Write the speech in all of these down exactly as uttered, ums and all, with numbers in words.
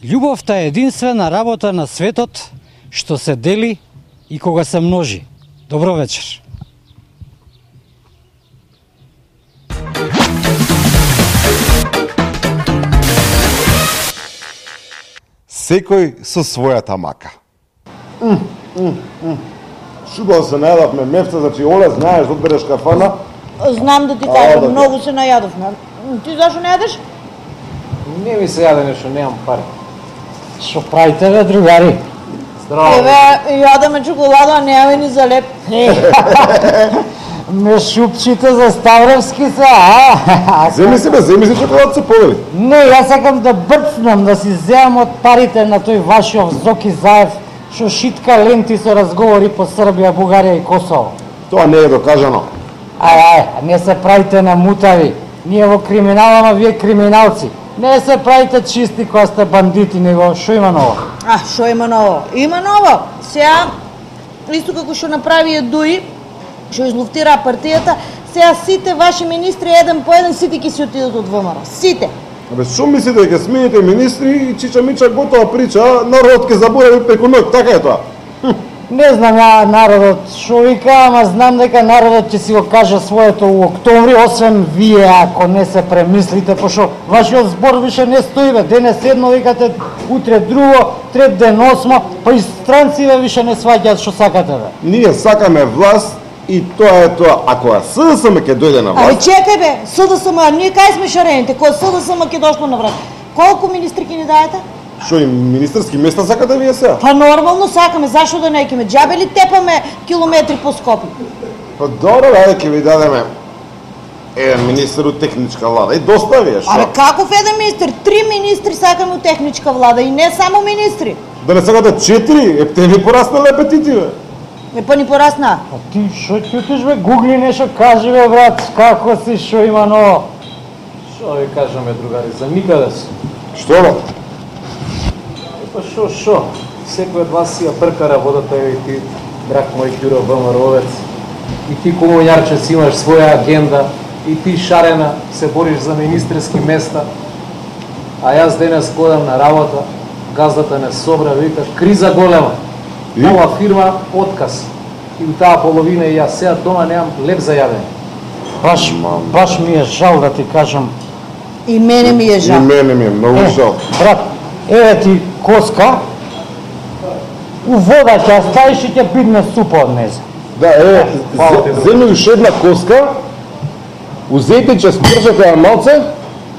Љубовта е единствена работа на светот што се дели и кога се множи. Добро вечер. Секој со својата мака. Mm, mm, mm. Шубаво се најадавме мефта, значи Оле, знаеш да одбереш кафана? Знам да ти кажам, многу се најадовме. Ти зашо не јадеш? Не ми се јаде нешто, немам пари. Што правите бе, другари? Здраво. Еве, јадеме чоколада, а немаме ни за леп. Ме шупчите за Ставровски се, а? Земи си бе, земи си чоколад се повели. Не, јас сакам да брцнам, да си земам од парите на тој вашиот Зоки Заев, што шитка ленти со разговори по Србија, Бугарија и Косово. Тоа не е докажано. Ај, ај, не се правите на мутави. Ние во криминал, ама вие криминалци. Не се правите чисти кога сте бандити, него шо има ново? А, шо има ново? Има ново. Сега, исто како што направи Едуи, што излуфтира партијата, сега сите ваши министри еден по еден сите ќе си отидат од ВМРО. Сите. Абе, шо мислите дека смените министри и Чича Мича готова прича, народот ќе заборави преку ноќ, така е тоа. Не знам ја народот шо вика, ама знам дека народот ќе си го каже своето у октомври, освен вие ако не се премислите, пошто вашиот збор више не стои бе, денес едно викате, утре друго, трет ден осмо, па и странците више не сваќаат што сакате бе. Ние сакаме власт и тоа е тоа. Ако СДСМ ќе дојде на Абе власт... чекај бе, СДСМ, ние кај сме шарените, кога СДСМ ќе дошло на врат. Колку министри ќе ни даете? Шо и министерски места сакате вие сега? Па нормално сакаме, зашо да не ќеме? Џабе ли тепаме километри по Скопје? Па добро, ајде ќе ви дадеме еден министер од техничка влада и доста ви е, шо? Абе каков еден министр? Три министри сакаме од техничка влада и не само министри. Да не сакате четири? Е, те ви пораснале апетити, бе. Е, па ни порасна. А ти шо ќутиш бе, гугли нешто кажи бе брат, како си, шо има ново? Шо ви кажаме, другари, за никаде си. Што бе? Па шо, шо? Секој од вас си ја пркара водата и ти, драг мој Ѓуро ВМРО-овец. И ти комунјарче си имаш своја агенда, и ти шарена се бориш за министерски места. А јас денес ходам на работа, газдата не собра, вика, криза голема. И? Нова фирма, отказ. И у таа половина и јас сега дома немам леп за јадење. Баш, баш ми е жал да ти кажам. И мене ми е И жал. мене ми е многу Е, жал. брат, еве ти коска, у вода ќе ја ставиш и ќе бидне супа од неза. Да, е, Фала ти, земи уште една коска, узете че спржете ја малце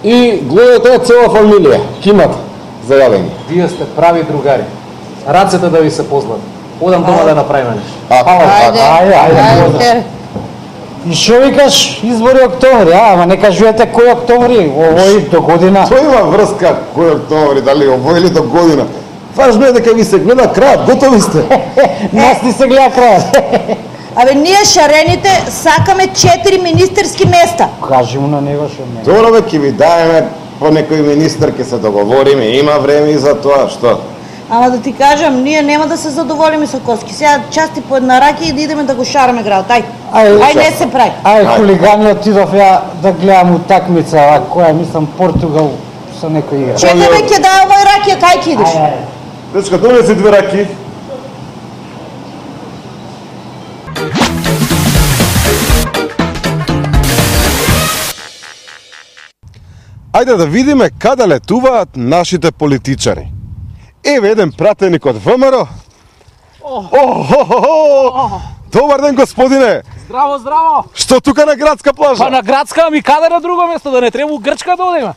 и гледате цела фамилија. Кимат за јадење. Вие сте прави другари. Рацете да ви се позлат. Одам дома да направиме нешто. А, Ајде, ајде, ајде, ајде. И шо викаш избори октомври, а? Ама не кажувате кој октомври, овој до година. Тоа има врска кој октомври, дали овој или до година. Важно е дека ви се гледа крајот, готови сте. Нас ни се гледа крајот. Абе, ние шарените сакаме четири министерски места. Кажи му на него шо не. Добро бе, ќе ви даеме по некој министер, ќе се договориме, има време и за тоа, што? Ама да ти кажам, ние нема да се задоволиме со коски. Сега части по една раки и да идеме да го шараме градот. Ај, Ај, ај не се прави. Ај, хулигани, отидов ја да гледам утакмица, а која мислам Португал со некој игра. Чекај бе, ќе дај овој ракија, кај ќе идеш? Дечка, донеси две раки. Ајде да видиме каде летуваат нашите политичари. Еве еден пратеник од ВМРО. Охо! Добар ден, господине! Здраво, здраво! Што тука на градска плажа? Па на градска, ами каде на друго место, да не треба у Грчка да одиме?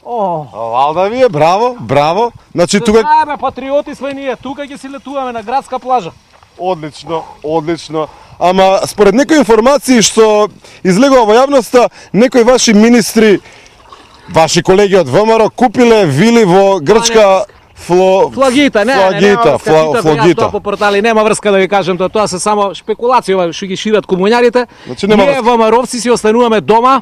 О, Валда ви е, браво, браво. Значи се тука... знаеме, патриоти сме ние, тука ќе си летуваме на градска плажа. Одлично, одлично. Ама според некои информации што излегува во јавноста, некои ваши министри, ваши колеги од ВМРО купиле вили во Грчка фло... Флагита, не, флагита, не, нема врска, фла... читав флагита. јас тоа по портали, нема врска да ви кажем тоа, тоа се само шпекулации, ова што ги шират комуњарите. Значи, нема ние врска. ВМРО-вци си остануваме дома.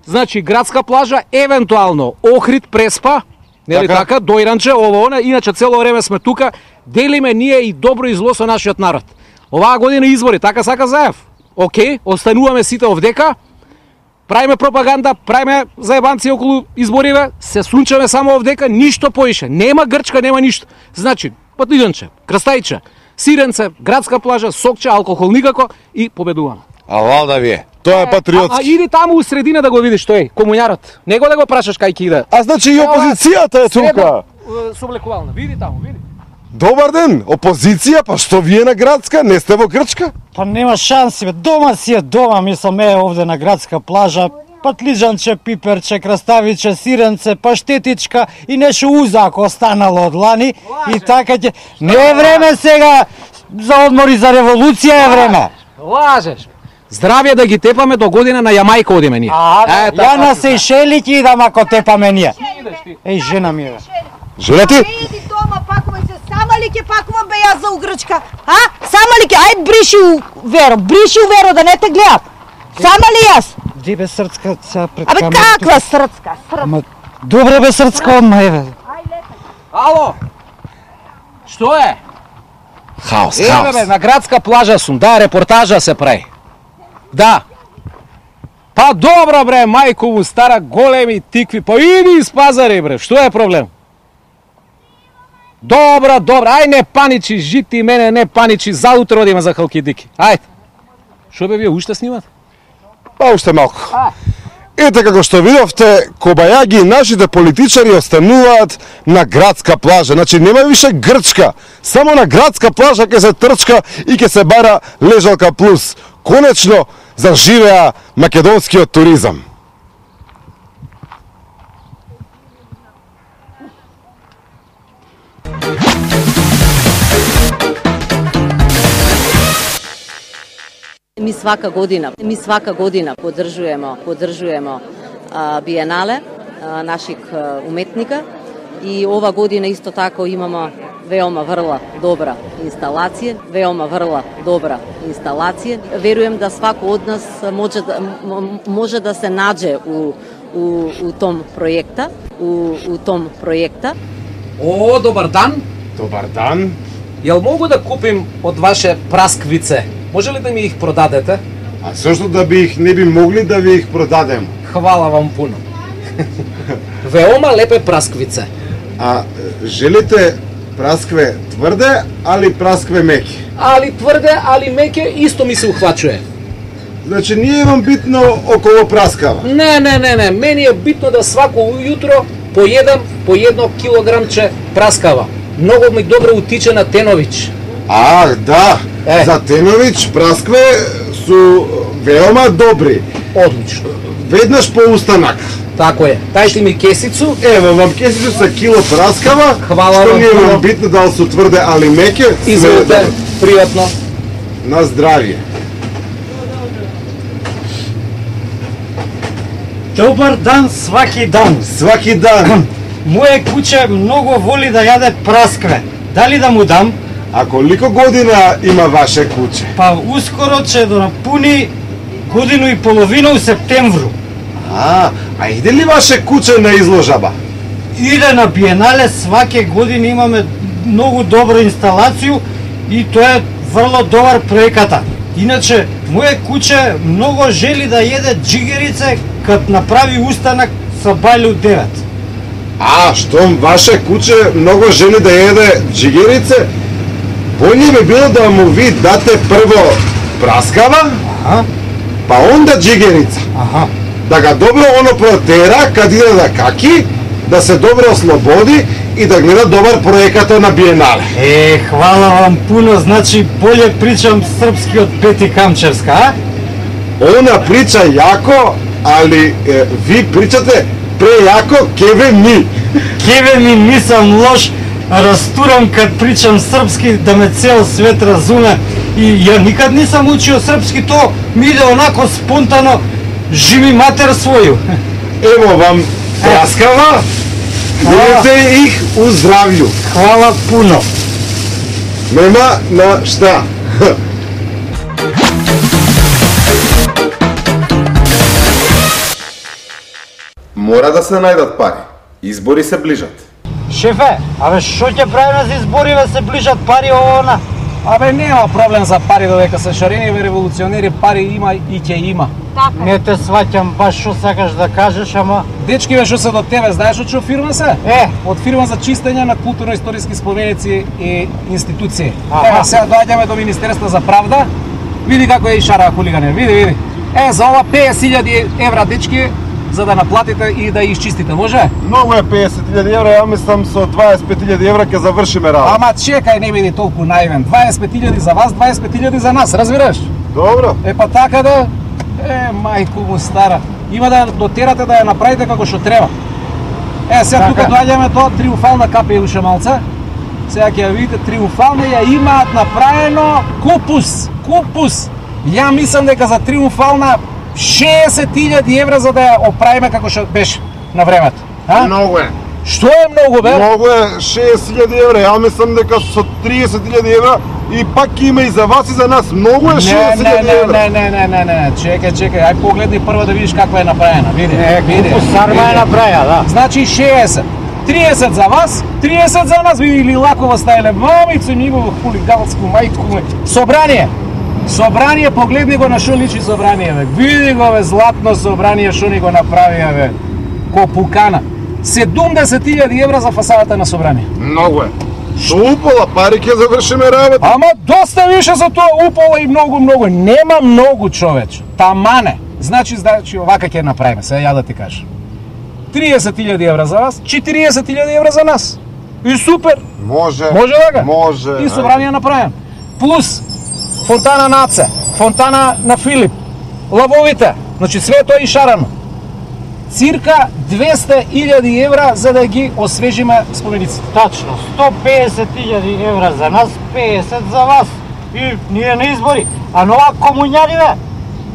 Значи градска плажа, евентуално Охрид, Преспа, нели Така. така, Дојранче, ово она, иначе цело време сме тука, делиме ние и добро и зло со нашиот народ. Оваа година избори, така сака Заев. Океј, остануваме сите овдека. правиме пропаганда, правиме заебанци околу избориве, се сунчаме само овдека, ништо поише. Нема Грчка, нема ништо. Значи, Патлиџанче, Крстајче, Сиренце, градска плажа, Сокче, алкохол никако и победуваме. А валда ви е. Тоа е А, а патриотски. иди таму у средина да го видиш тој, комуњарот. Него да го прашаш кај ќе иде. А значи и опозицијата е тука. Соблекувална, види таму, види. Добар ден, опозиција, па што вие на градска, не сте во Грчка? Па нема шанси, бе. Дома си е дома, мислам, е овде на градска плажа. Патлиџанче, пиперче, краставиче, сиренце, паштетичка и нешто узако останало од лани. И така ќе... Не е време сега за одмори, за револуција е време. Лажеш. Здравје да ги тепаме до година на Јамајка одиме ние. А, Е, ја така, на така. Сејшели ќе идам ако тепаме ние. Еј, жена ми е. Жена ти? Иди дома, пакувам се. Сама ли ќе пакувам бе јас за Угрчка? А? Сама ли ќе? Ајде бриши у Веро, бриши у Веро да не те гледам. Сама ли јас? Ди бе срцка, сега пред Абе камерата. каква срцка? Срцка. Ама, добре бе срцка одма, еве. Ало. Што е? Хаос, Еве хаос. бе, на градска плажа сум, да, репортажа се прави. Да. Па добро бре, мајко му стара големи тикви, па иди из пазари бре, што е проблем? Добро, добро, ај не паничи, жити мене, не паничи, заутро одиме за халкидики. Ајде. Што бе вие уште снимат? Па уште малку. А. Ете како што видовте, кобајаги нашите политичари остануваат на градска плажа. Значи нема више Грчка, само на градска плажа ќе се трчка и ќе се бара лежалка плюс. Конечно заживеа македонскиот туризам. Ми свака година, ми свака година поддржуваме, поддржуваме а, биенале а, наших а, уметника и ова година исто тако имаме веома врла добра инсталација, веома врла добра инсталација. Верувам да свако од нас може да може да се наđe у у у том проекта, у у том проекта. О, добар дан. Добар дан. Јел могу да купим од ваше прасквице? Може ли да ми их продадете? А зошто да би их не би могли да ви их продадем? Хвала вам пуно. Веома лепе прасквице. А желите праскве тврде, али праскве меки? Али тврде, али меке, исто ми се ухвачува. Значи nije vam bitno около праскава. Не, не, не, не, мени е битно да свако ујутро поедам по едно килограмче праскава. Многу ми добро утиче на Тенович. А, да, Е. за Тенович праскве су веома добри. Одлично. Веднаш по устанак. Тако е. Тајте ми кесицу. Ево вам кесичу са кило праскава, Хвала што вам nije puno. вам битно дали су тврде али меке. све е Изволите, добро. пријатно. На здравје. Добар дан сваки дан. Сваки дан. Моје куче многу воли да јаде праскве. Дали да му дам? А колико година има ваше куче? Па ускоро ќе да напуни годину и половина у септемвру. А, а иде ли ваше куче на изложаба? Иде на биенале, сваке години имаме многу добра инсталација и тоа е врло добар проеката. Иначе, моје куче многу жели да једе джигерице кад направи устанак со бајле у девет. А, штом ваше куче многу жели да једе джигерице, болje би било да му ви дате прво праскава, Аха, па онда джигерица. аха. Да ga dobro ono protera kad ide da kaki, da se dobro oslobodi i da gleda dobar projekata na Bienale. Е, хвала вам пуно, значи болje причам српски од Пети Камчевска, а? Ona priča jako, ali e, vi pričate prejako keve mi. Кеве ми нисам лош, растурам кад причам српски да ме цел свет разуме и ја никад нисам учио српски, то ми иде онако спонтано, живи матер своју. Evo vam praskava, vidite ih u zdravlju. Хвала пуно. Nema na šta. Мора да се најдат пари. Избори се ближат. Шефе, абе шо ќе правиме за избориве, се ближат пари ово она? Абе нема проблем за пари додека се шарени револуционери, пари има и ќе има. Не те сваќам баш што сакаш да кажеш, ама Дечки бе што се до тебе, знаеш од што фирма се? Е. Од фирма за чистење на културно-историски споменици и институции. Аха. Ева сега доаѓаме до Министерство за правда. Види како е и шара хулигане, види, види. Е, за ова песет илјади евра, дечки, за да наплатите и да изчистите, може? Многу е песет илјади евра, ја мислам со дваесет и пет илјади евра ќе завршиме работа. Ама чекај, не биди толку наивен. дваесет и пет илјади за вас, дваесет и пет илјади за нас, разбираш? Добро. Е па така да, е мајко му стара. Има да дотерате да ја направите како што треба. Е, сега тука доаѓаме тоа триумфална капа и уша малце. Сега ќе ја видите триумфална ја имаат направено купус, купус. Ја мислам дека за триумфална шеесет илјади евра за да ја оправиме како што беше на времето. А? Многу е. Што е многу бе? Многу е шеесет илјади евра, ја мислам дека со триесет илјади евра и пак има и за вас и за нас. Многу е Не, шеесет не, илјади не, евра. не, не, не, не, не, чекај, чекај, ај погледни прво да видиш каква е направена, види, е, види. купус сарма е види. направија, да. Значи шеесет, триесет за вас, триесет за нас, види ли лакова стајле, мамицу негово хулигалско, мајтко му. Собрание, собрание, погледни го на шо личи собрание, бе. Види го, бе, златно собрание, шо ни го направија, бе. Ко пукана. седумдесет илјади евра за фасадата на собрание. Многу е. Со упола пари ќе завршиме работа. Ама доста више за тоа упола и многу, многу. Нема многу, човече. Тамане. Значи, значи овака ќе направиме, сега ја да ти кажам. триесет илјади евра за вас, четириесет илјади евра за нас. И супер. Може. Може така? Може. И собрание направен. Плюс фонтана на Аце, фонтана на Филип, лавовите, значи све тоа и шарано. Цирка двесте илјади евра за да ги освежиме спомениците. Тачно, сто песет илјади евра за нас, песет за вас. И ние на избори. А нова комуњари, бе,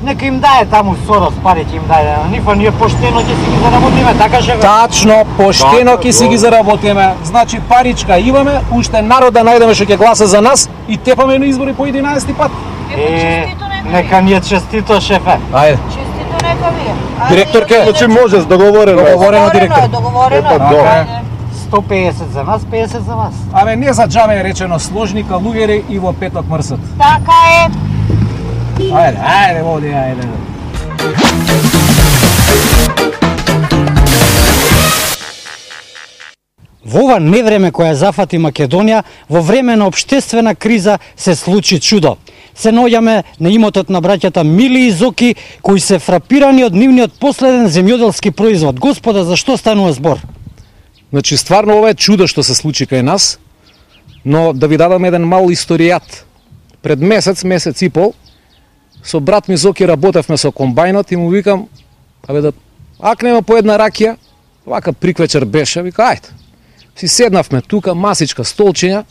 нека им дае таму Сорос пари ќе им даде на нив, а ние поштено ќе си ги заработиме, така шефе? Тачно, поштено ќе си ги заработиме. Значи паричка имаме, уште народ да најдеме што ќе гласа за нас и тепаме на избори по единаесети пат. Е, нека ни е честито, шефе. Ајде. Честито нека ви е. Ајде, Директорке. Значи може, договорено. е. Договорено, директор. е, договорено. Епа, добро. Ајде. сто песет за нас, песет за вас. Абе не за џабе е речено сложни калугери и во петок мрсат. Така е. Ајде, ајде, води, ајде. Во ова невреме која зафати Македонија, во време на општествена криза се случи чудо. Се наоѓаме на имотот на браќата Мили и Зоки, кои се фрапирани од нивниот последен земјоделски производ. Господа, за што станува збор? Значи стварно ова е чудо што се случи кај нас, но да ви дадам еден мал историјат. Пред месец, месец и пол, со брат ми Зоки работевме со комбајнот и му викам, абе да акнеме по една ракија, вака приквечер беше, вика ајде. Си седнавме тука, масичка, столчиња,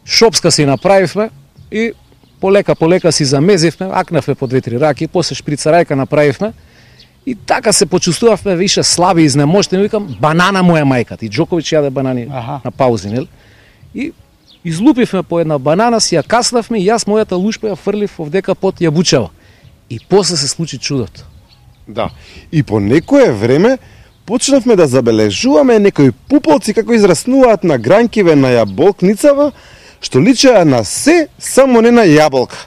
шопска си направивме и полека полека си замезивме, акнавме по две-три раки, после шприцарајка направивме и така се почувствувавме више слаби, изнемоштени, викам банана му е мајката. И Джоковиќ јаде банани Аха. на паузи, нели? И излупивме по една банана, си ја каснавме и јас мојата лушпа ја фрлив овдека под јабучева. И после се случи чудото. Да. И по некое време почнавме да забележуваме некои пуполци како израснуваат на гранкиве на јаболкницава, што личеа на се, само не на јаболка.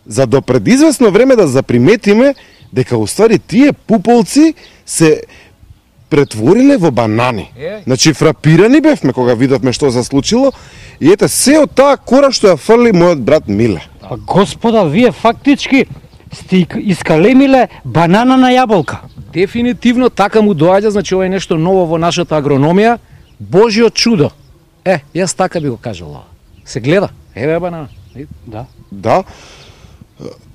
За до пред известно време да заприметиме дека уствари тие пуполци се претвориле во банани. Е. Значи фрапирани бевме кога видовме што се случило и ете се од таа кора што ја фрли мојот брат Миле. Па господа, вие фактички сте искалемиле банана на јаболка. Дефинитивно така му доаѓа, значи ова е нешто ново во нашата агрономија, Божјо чудо. Е, јас така би го кажал ова. Се гледа, еве банана. Да. Да.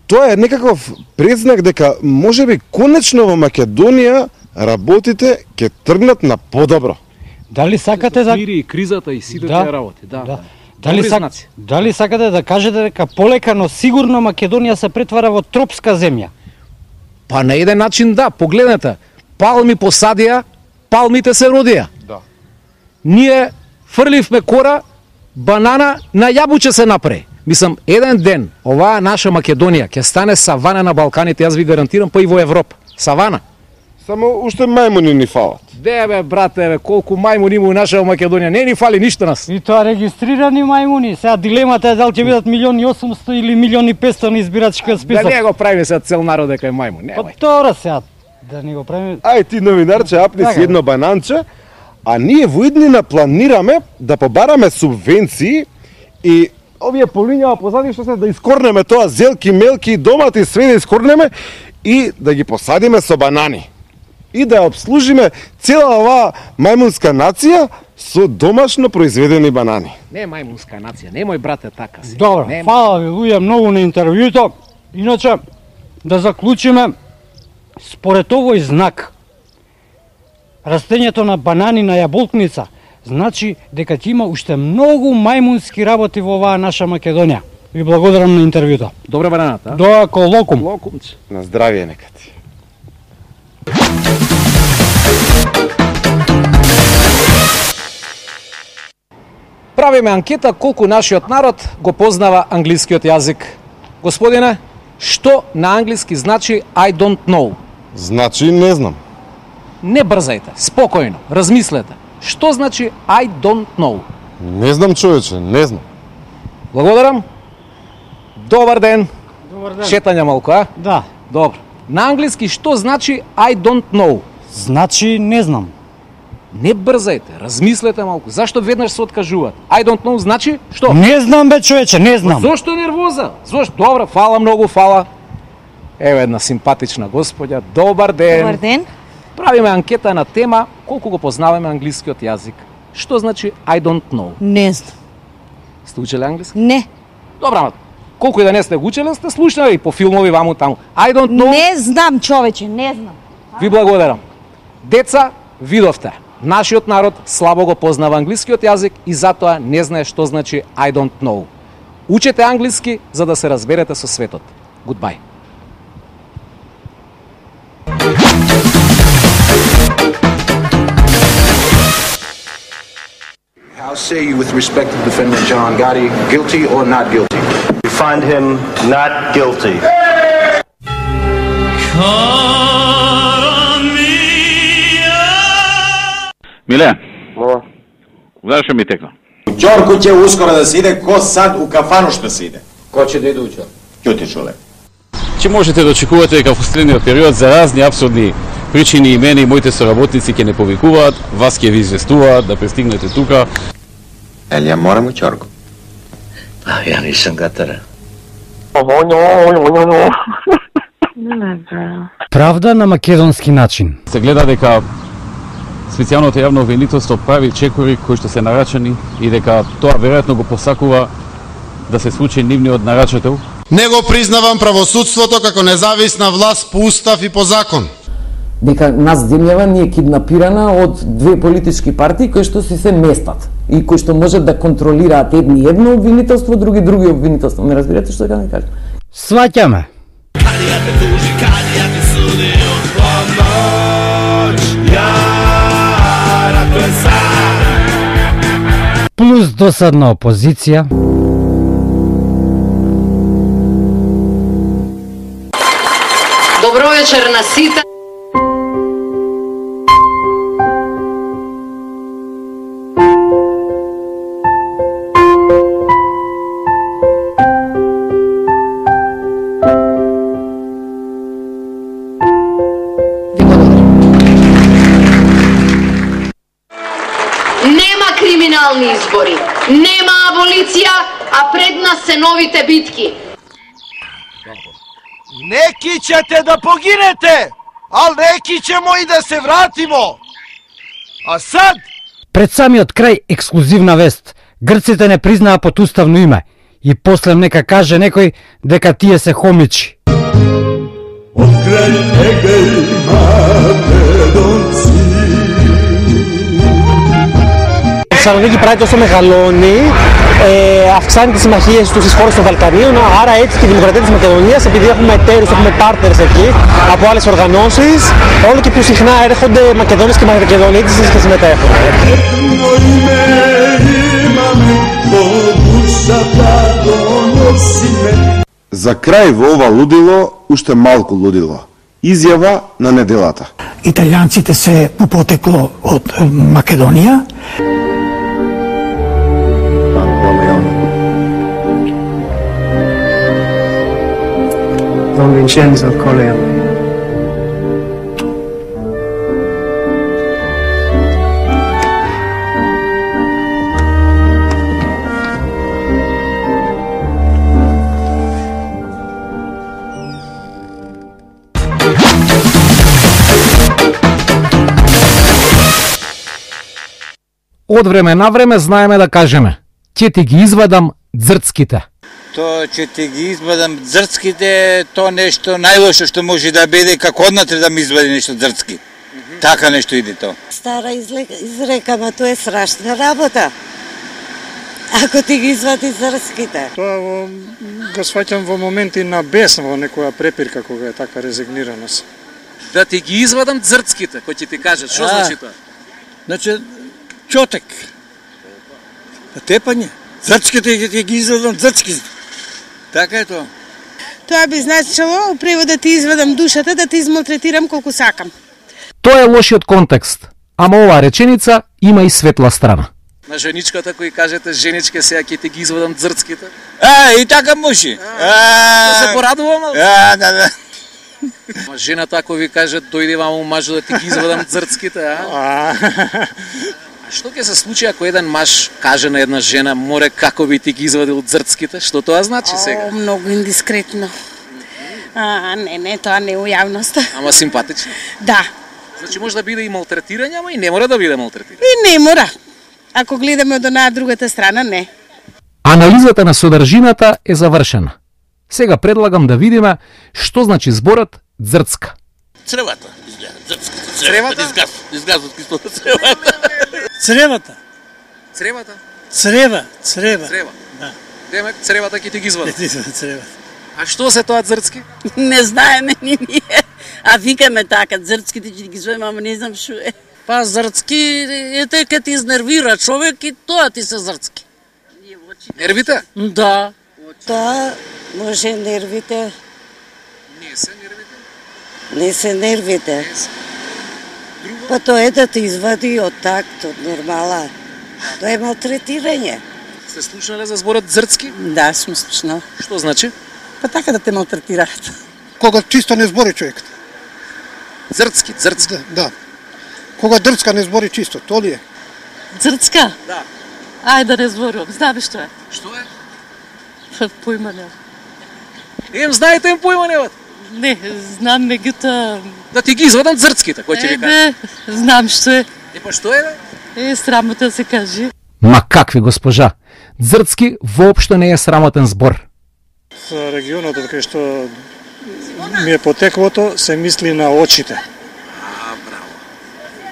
Тоа е некаков предзнак дека можеби конечно во Македонија работите ќе тргнат на подобро. Дали сакате да Мири и кризата и сите Да, тие работи, да. Да. Дали, Добри сак... знаци. Дали сакате да кажете дека полека, но сигурно Македонија се претвара во тропска земја? Па на еден начин да, погледнете. Палми посадија, палмите се родија. Да. Ние фрливме кора, банана на јабуче се направи. Мислам, еден ден оваа наша Македонија ќе стане савана на Балканите, јас ви гарантирам, па и во Европа. Савана. Само уште мајмуни ни фалат. Де бе, брате, бе, колку мајмуни има у наша Македонија, не ни фали ништо нас. И тоа регистрирани мајмуни. Сега дилемата е дали ќе бидат милион и осумсто или милион и петсто на избирачкиот список. Да не го правиме сега цел народ дека е мајмун, немај. Па тоа сега да не го правиме. Ај ти новинарче, апни си едно бананче, а ние во иднина планираме да побараме субвенции и овие полињава позади што се да искорнеме тоа зелки, мелки, домати, све да искорнеме и да ги посадиме со банани. И да обслужиме цела оваа мајмунска нација со домашно произведени банани. Не мајмунска нација, немој брате така си. Добро, Нема. фала ви луѓе многу на интервјуто. Иначе да заклучиме според овој знак растењето на банани на јаболкница значи дека ќе има уште многу мајмунски работи во оваа наша Македонија. Ви благодарам на интервјуто. Добра бананата, а? Доако локум. Локумче. На здравје нека ти. Правиме анкета колку нашиот народ го познава англискиот јазик. Господине, што на англиски значи I don't know? Значи не знам. Не брзајте, спокојно, размислете. Што значи I don't know? Не знам човече, не знам. Благодарам. Добар ден. Добар ден. Шетање малку, а? Да. Добро. На англиски што значи I don't know? Значи не знам. Не брзајте, размислете малку. Зашто веднаш се откажуваат? I don't know значи што? Не знам бе човече, не знам. Зошто нервоза? Зошто? Добро, фала многу, фала. Еве една симпатична господја. Добар ден. Добар ден. Правиме анкета на тема колку го познаваме англискиот јазик. Што значи I don't know? Не знам. Сте учеле англиски? Не. Добра, ама колку и да не сте го учеле, сте слушнали и по филмови ваму таму. I don't know. Не знам, човече, не знам. Ви благодарам. Деца, видовте. Нашиот народ слабо го познава англискиот јазик и затоа не знае што значи I don't know. Учете англиски за да се разберете со светот. Goodbye. How say you with respect to defendant John Gotti, guilty or not guilty? We find him not guilty. Миле, зашо ми текна? Ќорку ќе ускоро да се иде, ко сад у кафану што се иде? Ко ќе да иде у Ќорку? Ќоти човек. Ќе можете да очекувате дека во следниот период за разни апсурдни причини и мене и моите соработници ќе не повикуваат, вас ќе ви известуваат да пристигнете тука. Елија, морам у Ќорку. Па, ја нисам гатара. Правда на македонски начин. Се гледа дека специјалното јавно обвинителство прави чекори кои што се нарачани и дека тоа веројатно го посакува да се случи нивниот нарачател. Не го признавам правосудството како независна власт по устав и по закон. Дека нас земјава ни е киднапирана од две политички партии кои што си се местат и кои што можат да контролираат едни едно обвинителство, други други обвинителство. Ме разбирате што ќе да кажам? Сваќаме. Плюс досадна опозиција. Добро вечер на сите. Нема криминални избори, нема аболиција, а пред нас се новите битки. Неки ćete да погинете, ал неки ćemo и да се вратимо. А сад? Пред самиот крај ексклузивна вест. Грците не признаа потуставно име. И после нека каже некој дека тие се хомичи. Од крај Егеј Македонци. Η Θεσσαλονίκη πράγματι όσο μεγαλώνει, ε, αυξάνει τις συμμαχίες του στις χώρες των Βαλκανίων, άρα έτσι και η δημοκρατία της Μακεδονίας, επειδή έχουμε εταίρους, έχουμε partners εκεί από άλλες οργανώσεις, όλο και πιο συχνά έρχονται Μακεδόνες και Μακεδονίτες και συμμετέχουν. За крај во ова лудило, уште малку лудило. Изјава на неделата. Италијанците се по потекло од Македонија. Don Vincenzo Corleone. Од време на време знаеме да кажеме: ќе ти ги извадам дзрцките. То ќе ти ги извадам дзрцките, то нешто најлошо што може да биде, како однатре да ми извади нешто дзрцки. Mm -hmm. Така нешто иде то. Стара изрека, ма тоа е страшна работа. Ако ти ги извади дзрцките. Тоа во, го сваќам во моменти на бес, во некоја препирка кога е така резигнираност. Да ти ги извадам дзрцките, кој ќе ти кажат, што значи тоа? Значи, чотек. Тепање. Дзрцките ќе ти ги извадам дзрцките. Така е тоа. Тоа би значило, у превод да ти извадам душата, да те измалтретирам колку сакам. Тоа е лошиот контекст, ама оваа реченица има и светла страна. На женичката кој кажете, женичке, сега ќе ти ги извадам дзрцките. А, и така може. Да се порадувам. А, да, да. Ма жената ако ви каже, дојде ваму мажу да ти ги извадам дзрцките, а? Што ќе се случи ако еден маж каже на една жена, море како би ти ги извадил дзрцките? Што тоа значи сега? О, многу индискретно. А, не, не, тоа не е у јавност. Ама симпатично? Да. Значи може да биде и малтретирање, ама и не мора да биде малтретирање. И не мора. Ако гледаме од онаа другата страна, не. Анализата на содржината е завршена. Сега предлагам да видиме што значи зборот дзрцка. Цревата, изгледа, дзрцката. Цревата? Изгаз, изгаз од кислота цревата. Цревата. Цревата? Црева, црева. Црева. Да. Демек цревата ќе ти ги извади. Ќе ти извади цревата. А што се тоа дзрцки? Не знаеме ни ние. А викаме така, дзрцките ќе ги извадиме, ама не знам што е. Па зрцки е те кај ти изнервира човек и тоа ти се зрцки. Нервите? Да. Тоа може нервите. Не се нервите? Не се нервите. Па тоа е да те извади од такт, од нормала. Тоа е малтретирање. Сте слушнале за зборот зрцки? Да, сум слушнал. Што значи? Па така да те малтретираат. Кога чисто не збори човекот. Зрцки, зрцки. Да, да. Кога дрцка не збори чисто, то ли е? Зрцка? Да. Ајде да не зборувам, знаеш што е? Што е? Појма не. Ем, знаете им појма не. Не, знам меѓуто... Да ти ги извадам зрцките, кој ќе ви каже? Ебе, знам што е. И па што е, бе? Е, срамота да се каже. Ма какви, госпожа? Зрцки воопшто не е срамотен збор. За регионот од кај што ми е потеклото, се мисли на очите. А, браво.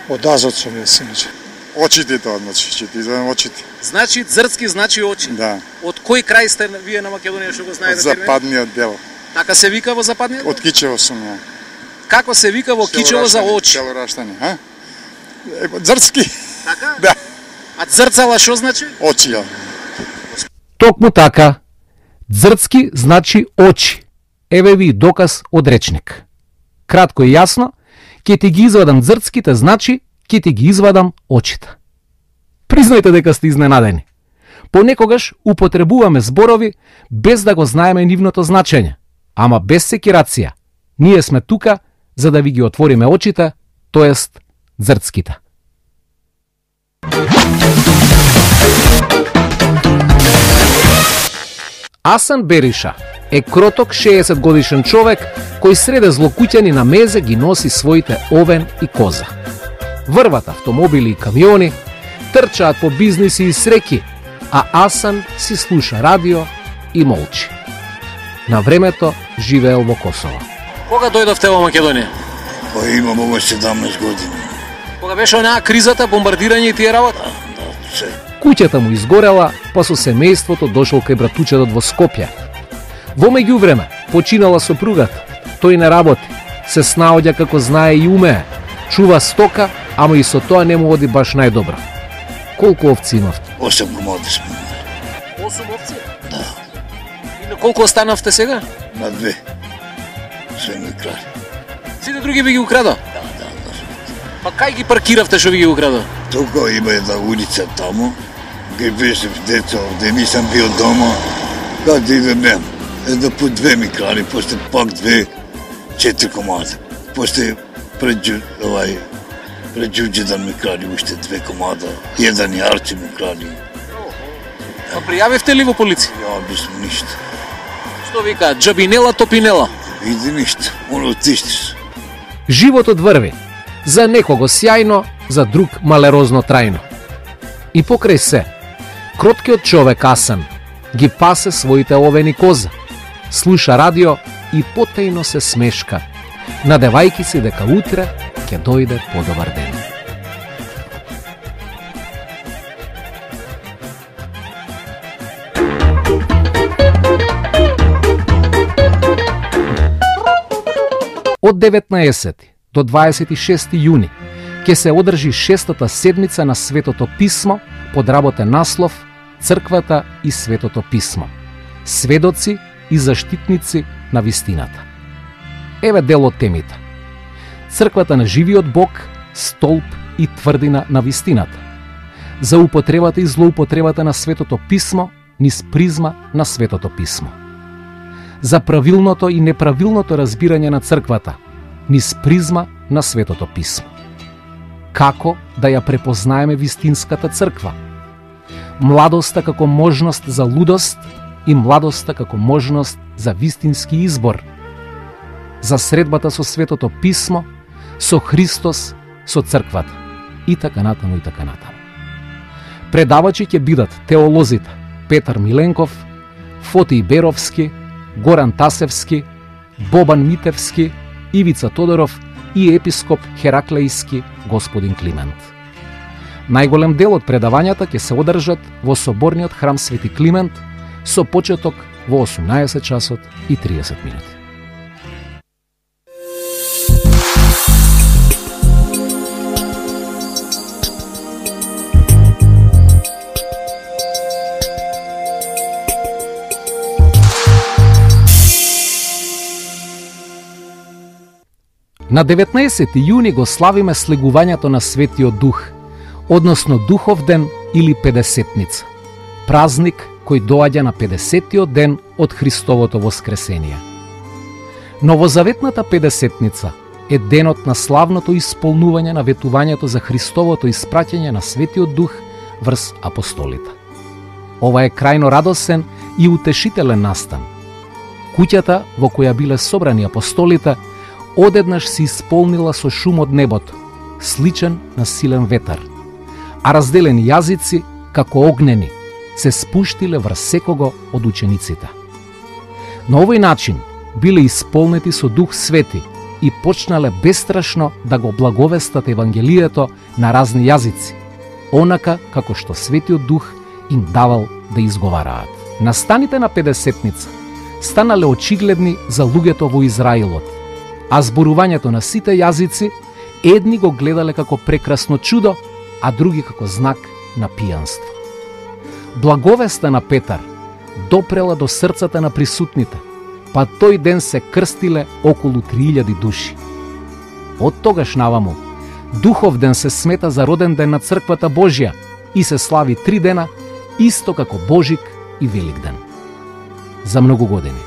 Од азот сум јас, иначе. Очите тоа, значи, ќе ти извадам очите. Значи, зрцки значи очи. Да. Од кој крај сте вие на Македонија, што го знаете? Западниот дел. Така се вика во западниот дел? Од Кичево сум ја. Како се вика во Кичево за очи? Село Раштани, а? Зрцки. Така? Да. А зрцала што значи? Очи, ја. Токму така. Зрцки значи очи. Еве ви доказ од речник. Кратко и јасно, ќе ти ги извадам зрцките значи ќе ти ги извадам очите. Признајте дека сте изненадени. Понекогаш употребуваме зборови без да го знаеме нивното значење, ама без секирација. Ние сме тука за да ви ги отвориме очите, тоест зрцките. Асан Бериша е кроток шеесет годишен човек кој среде злокуќани на мезе ги носи своите овен и коза. Врват автомобили и камиони, трчаат по бизниси и среки, а Асан си слуша радио и молчи. На времето живеел во Косово. Кога дојдовте во Македонија? Па имам ова седамнаесет години. Кога беше онаа кризата, бомбардирање и тие работа? Да, се. Куќата му изгорела, па со семејството дошол кај братучедот во Скопје. Во меѓувреме, починала сопругата. Тој не работи, се снаоѓа како знае и умее. Чува стока, ама и со тоа не му оди баш најдобро. Колку овци имавте? Осем комади сме. Осум овци? Да. И на колку останавте сега? На две. Све ми крај. Сите други би ги украдо? Да, да, да. Па кај ги паркиравте што ви ги украдо? Тука има една улица тамо, ге беше деца овде, нисам бил дома, каде идем нема. Една по две ми кради, после пак две, четири комада. После пред овај пред Ѓуѓедан ми кради уште две комада, еден јарче ми кради. Па пријавивте ли во полиција? Ја, без ништо. Што вика, џабинела топинела? Види ништо, оно тиштиш. Животот врви. За некого сјајно, за друг малерозно трајно. И покрај се, кроткиот човек Асан ги пасе своите овени коза, слуша радио и потајно се смешка, надевајки си дека утре ќе дојде подобар ден. Од деветнаесети до дваесет и шести јуни ќе се одржи шестата седмица на Светото Писмо под работен наслов Црквата и Светото Писмо. Сведоци и заштитници на вистината. Еве дел од темите. Црквата на живиот Бог, столб и тврдина на вистината. За употребата и злоупотребата на Светото Писмо низ призма на Светото Писмо. За правилното и неправилното разбирање на црквата низ призма на Светото Писмо. Како да ја препознаеме вистинската црква? Младоста како можност за лудост и младоста како можност за вистински избор. За средбата со Светото Писмо, со Христос, со црквата. И така натаму, и така натаму. Предавачи ќе бидат теолозите Петар Миленков, Фотий Беровски, Горан Тасевски, Бобан Митевски, Ивица Тодоров и епископ Хераклејски господин Климент. Најголем дел од предавањата ќе се одржат во соборниот храм Свети Климент со почеток во осумнаесет часот и триесет минути. На деветнаесети јуни го славиме слегувањето на Светиот Дух, односно Духов ден или Педесетница, празник кој доаѓа на педесетиот ден од Христовото воскресение. Новозаветната Педесетница е денот на славното исполнување на ветувањето за Христовото испраќање на Светиот Дух врз апостолите. Ова е крајно радосен и утешителен настан. Куќата во која биле собрани апостолите одеднаш се исполнила со шум од небото, сличен на силен ветар, а разделени јазици, како огнени, се спуштиле врз секого од учениците. На овој начин биле исполнети со Дух Свети и почнале бестрашно да го благовестат Евангелието на разни јазици, онака како што Светиот Дух им давал да изговараат. Настаните на Педесетница станале очигледни за луѓето во Израилот, а зборувањето на сите јазици едни го гледале како прекрасно чудо, а други како знак на пијанство. Благовеста на Петар допрела до срцата на присутните, па тој ден се крстиле околу три илјади души. Од тогаш наваму, Духов ден се смета за роден ден на Црквата Божја и се слави три дена, исто како Божик и Великден. За многу години.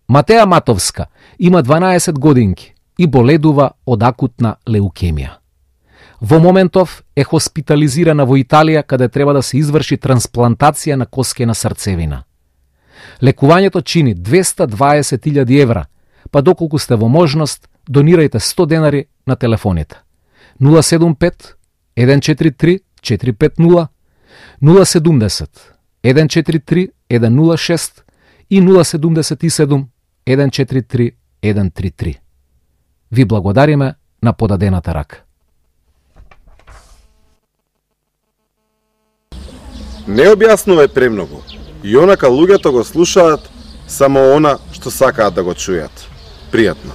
Матеја Матовска има дванаесет годинки и боледува од акутна леукемија. Во моментов е хоспитализирана во Италија, каде треба да се изврши трансплантација на коскена срцевина. Лекувањето чини двеста дваесет илјади евра, па доколку сте во можност, донирајте сто денари на телефоните. нула седум пет еден четири три четири пет нула, нула седумдесет еден четири три еден нула шест и нула седумдесет и седум еден четири три еден три три. Ви благодариме на подадената рака. Не објаснувај премногу. И онака луѓето го слушаат само она што сакаат да го чујат. Пријатно.